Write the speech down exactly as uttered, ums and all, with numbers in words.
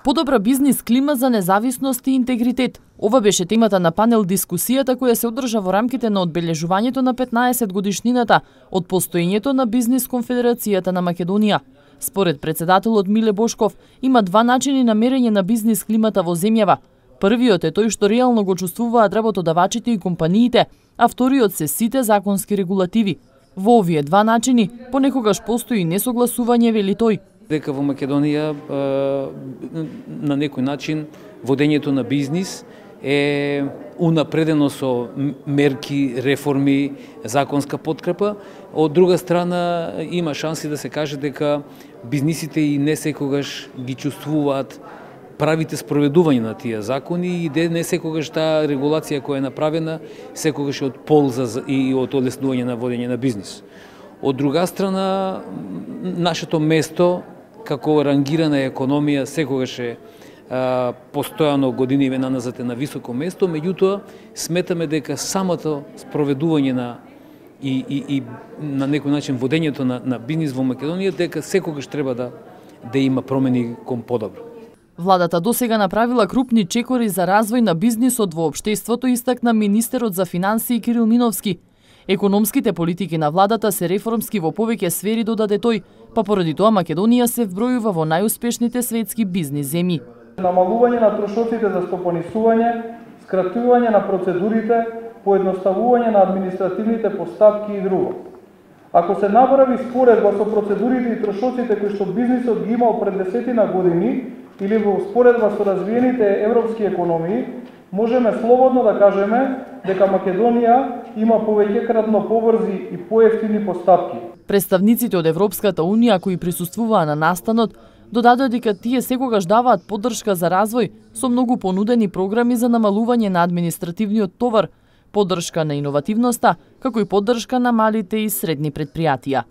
Подобра бизнис клима за независност и интегритет. Ова беше темата на панел дискусијата која се одржа во рамките на одбележувањето на петнаесет годишнината од постоењето на Бизнис конфедерацијата на Македонија. Според председателот Миле Бошков, има два начини на мерење на бизнис климата во земјава. Првиот е тој што реално го чувствуваат работодавачите и компаниите, а вториот се сите законски регулативи. Во овие два начини понекогаш постои несогласување, вели тој. Дека во Македонија на некој начин водењето на бизнис е унапредено со мерки, реформи, законска подкрепа. Од друга страна има шанси да се каже дека бизнисите и не секогаш ги чувствуваат правите спроведување на тие закони и не секогаш таа регулација која е направена секогаш е од полза и од олеснување на водење на бизнис. Од друга страна, нашето место како рангирана економија секогаш е а, постојано години вена назад е на високо место, меѓутоа сметаме дека самото спроведување на и, и, и на некој начин водењето на, на бизнис во Македонија дека секогаш треба да да има промени кон подобро. Владата досега направила крупни чекори за развој на бизнисот во општеството, истакна министерот за финансии Кирил Миновски. Економските политики на владата се реформски во повеќе сфери, додаде тој, па поради тоа Македонија се вбројува во најуспешните светски бизнис земји. Намалување на трошоците за стопанисување, скратување на процедурите, поедноставување на административните постапки и друго. Ако се направи споредба со процедурите и трошоците кои што бизнисот ги имал пред десетина години или во споредба со развиените европски економии, можеме слободно да кажеме дека Македонија има повеќекратно побрзи и поевтини постапки. Представниците од Европската унија кои присуствуваа на настанот додадоа дека тие секогаш даваат поддршка за развој со многу понудени програми за намалување на административниот товар, поддршка на иновативноста, како и поддршка на малите и средни претпријатија.